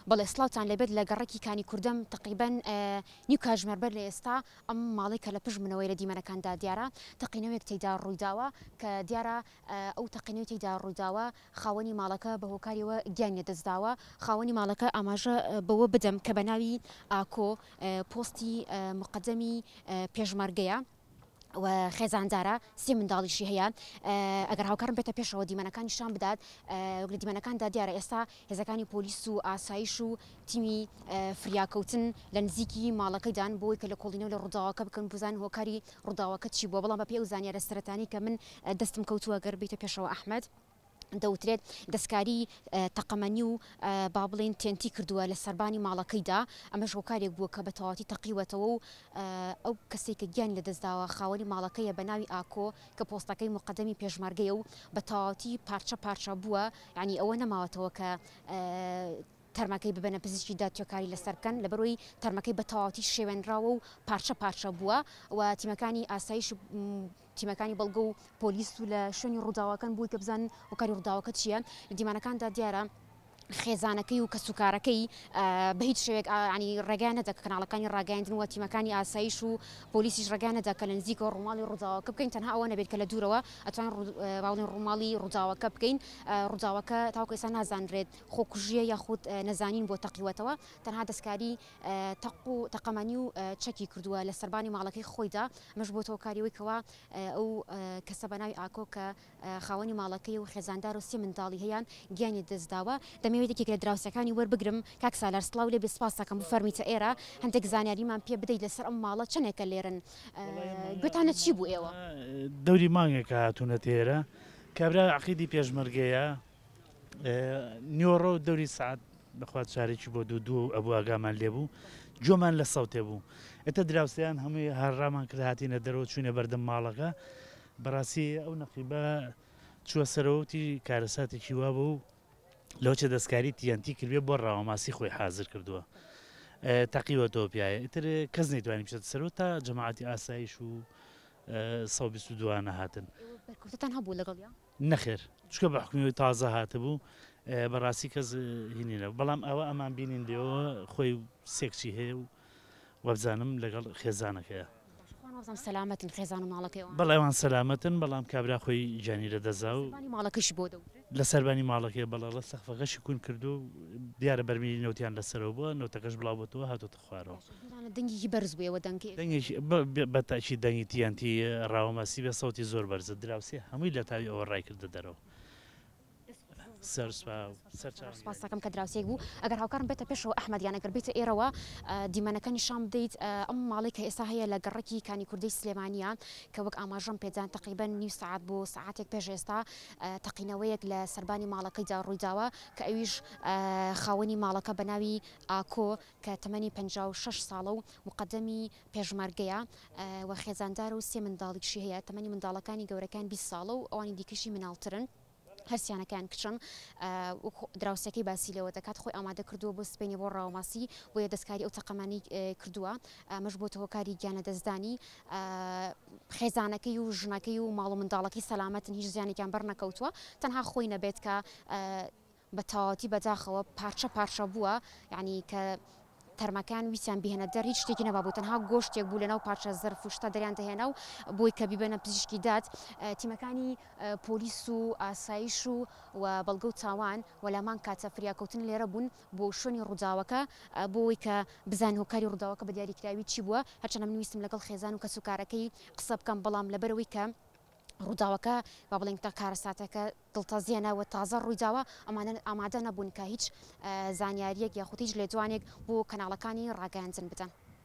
بەڵێ سڵاوتان لێبێت لە گەڕەکی کانی کوردەم تەقریبەن نیو کاژمێر بەر لە ئێستا ئەم ماڵەی کە لە پشت منەوەی لە دیمەنەکاندا دیارە تەقینەوەیەک تێیدا ڕوویداوە کە دیارە ئەو تەقینەوەی تێیدا ڕوویداوە خاوەنی ماڵەکە بە هۆکاریەوە گیانی لەدەستداوە خاوەنی ماڵەکە ئاماژە بەوە بدەم کە بە ناوی ئاکۆ پۆستی مقەدەمی پێشمەرگەیە. و خێزاندارە سێ منداڵیشی هەیە ئەگەر هاوکارم بێتە پێشەوە دیمەنەکان نیشان بدات وەک لە دیمەنەکاندا دیارە ئێستا هێزەکانی پۆلیس و ئاسایش و تیمی فریاکەوتن لە نزیکی ماڵەکەیدان بۆی کە لە کۆڵینەوە لە ڕووداوەکە بکەن بزان هۆکاری ڕووداوەکە چی بووە بەڵام بەپێی ئەو زانیارە سەرەتانی کە من دەستم کەوتووە گەر بیتە پێشەوە ئەحمەد دەوترێت دەستکاری تەقەمەنی و با بڵێین تێنتی کردووە لە سەربانی ماڵەکەیدا، ئەمەش هۆکارێک بووە کە بە تەواوەتی تەقیوەتەوە و ئەو کەسەی کە گیانی لەدەستداوە خاوەنی ماڵەکەیە بە ناوی ئاکۆ کە پۆستەکەی موقەدەمی پێشمەرگەیە و بە تەواوەتی پارچە پارچە بووە یانی ئەوە نەماوەتەوە کە تەرمەکەی ببەنە پزیشکی داد توێکاری لەسەر بکەن لەبەرئەوەی تەرمەکەی بە تەواوەتی شێوێنراوە و پارچە پارچە بووە و تیمەکانی ئاسایش تیمەکانی بەڵگە و پۆلیس و لە شوێنی ڕووداوەکەن بۆی کە بزانن هۆکاری ڕووداوەکە چییە لە دیمانەکاندا دیارە خێزانەکەی و کەسوکارەکەی بە هیچ شێوێک ینی ڕێگەیان نەدا کە کەناڵەکانی ڕاگەیاندن و تیمەکانی ئاسایش و پۆلیسیش ڕێگەیان نەدا کە لە نزیکەوە ڕووماڵی ڕووداوەکە بکەین تەنها ئەوە نەبێت کە لە دوورەوە ئەتوانین باڵین ڕووماڵی ڕووداوەکە بکەین ڕووداوەکە تاوەکو ئێستا نازانرێت خۆکوژییە یاخود نەزانین بۆ تەقیوەتەوە تەنها دەستکاری تەق و تەقەمەنی و چەکی کردووە لە سەربانی ماڵەکەی خۆیدا، ئەمەش بۆتە هۆکاری ئەوەی کەوا ئەو کەسە بە ناوی ئاکۆ کە خاوەنی ماڵەکەی و خێزاندار و سێ منداڵی هەیە گیانی لەدەستداوە. دەمەوێت یەکێک لە دراوسێکانی وەربگرم، کاک سالار سڵاو لێ بێ سپاست دەکەم بفەرموویتە ئێرە هەندێک زانیاریمان پێ بدەیت لەسەر ئەم ماڵە چەندێکە لێرەن گوێتان لە چی بوو ئێوە؟ دەوری مانگێکە هاتوونەتە ئێرە، کابرا عەقیدی پێشمەرگەیە، نیوەڕۆ دەوری سەعات بەخوا چارێکی بۆ دوو دوو ئەبوو ئاگامان لێ بوو گوێمان لە سەوتێ بوو ئێتە دراوسێیان هەمووی هەڕامان کرد هاتینە دەرەوە چوینە بەردەم ماڵەکە بەڕاستی ئەو نەقیبە چووە سەرەوە وتی کارەساتێکی وا بوو لەوچە دەستکاری تیەنتی کردێ بۆ ڕاوەماسی خۆی حازر کردووە تەقیوەتەوە پیاە ئیتر کەس نەیتوانی بچێتە سەرەوە تا جەماعەتی ئاسایش و 122 نەهاتن. بەرکەوتتان هەبوو لەگەڵیا؟ نەخێر چونکە بە حوکمی ئەوەی تازە هاتبوو بەڕاستی کەس هینی نەبوو بەڵام ئەوە ئەمان بینین لێەوە خۆی سێ کچی هەیە و وابزانم لەگەڵ خێزانەکەیە. باشە خوا وابزانم سەلامەتن خێزان و ماڵەکەی ئەوان. بەڵێ ئەوان سەلامەتن بەڵام کابرا خۆی گیانی لەدەستدا و. سەربانی ماڵەکەشی بۆ دەوترێت؟ لە سەربانی ماڵەکەی بەڵێ ڵە سەقفەکەشی کون کردووە و دیارە بەرمیلی نەوتیان لەسەرەوە بووە نەوتەکەش بڵاو بۆتەوە هاتۆتە خوارەوە. باشە بیرانە دەنگێکی بەرز بوو ئێوە دەنگی. دەنگێکی بە تەئکید دەنگی TNT ڕاوەماسی بێ سەوتی زۆر بەرزە دراوسێ هەمووی لە تاوی ئەوە ڕای کردە دەرەوە. سەر سوپاس. سوپاست دەکەم کە دراوسێک بوو ئەگەر هاوکارم بێتە پێشەوە ئەحمەد یان ئەگەر بێتە ئێرەوە دیمەنەکە نیشان بدەیت ئەم ماڵەی کە ئێستا هەیە لە گەڕەکی کانی کوردەی سلێمانیە کە وەک ئاماژەم پێدان تەقریبەن نیو سەعات بۆ سەعاتێک پێش ئێستا تەقینەوەیەک لە سەربانی ماڵەکەیدا ڕوویداوە کە ئەویش خاوەنی ماڵەکە بە ناوی ئاکۆ کە تەمەنی 56 ساڵە و موقەدەمی پێشمەرگەیە و خێزاندارە و سێ منداڵیشی هەیە، تەمەنی منداڵەکانی گەورەکەیان 20 ساڵە و ئەوانی دیکەشی مناڵترن. هەرسیانەکەیان کچن وەک دراوسێکەی باسی لێوە دەکات خۆی ئامادە کردووە بۆ سبەینێ بۆ ڕاوەماسی بۆیە دەستکاری ئەو تەقەمانی کردووە ئەمەش بۆتە هۆکاری گیانلەدەستدانی خێزانەکەی و ژنەکەی و ماڵ و منداڵەکەی سەلامەتن هیچ زیانێکیان بەرنەکەوتووە تەنها خۆی نەبێت کە بە تەواوەتی بەداخەوە پارچە پارچە بووە یانی کە تەرمەکان ویستیان بیهێنە دەر هیچ شتێکی نەمابوو تەنها گۆشتێک بوو لەناو پارچە زەرف و شتە دەریان دەهێنا و بۆی کە بیبەنە پزیشکی داد تیمەکانی پۆلیس و ئاسایش و و بەڵگە و تاوان و لامان کاتە فریاکەوتن لێرە بوون بۆ شوێنی ڕووداوەکە بۆ ئەوەی کە بزانن هۆکاری ڕووداوەکە بە دیاریکراوی چی بووە هەرچەندە من ویستم لەگەڵ خێزان و کەسوکارەکەی قسە بکەم بەڵام لەبەرئەوەی کە ڕووداوەکە با بڵێین کارەساتەکە دڵتەزێنە و تازە ڕوویداوە، ئەمانە ئامادە نەبوون کە هیچ زانیارییەک یاخود هیچ لێدوانێک بۆ کەناڵەکانی ڕاگەیاندن بدەن.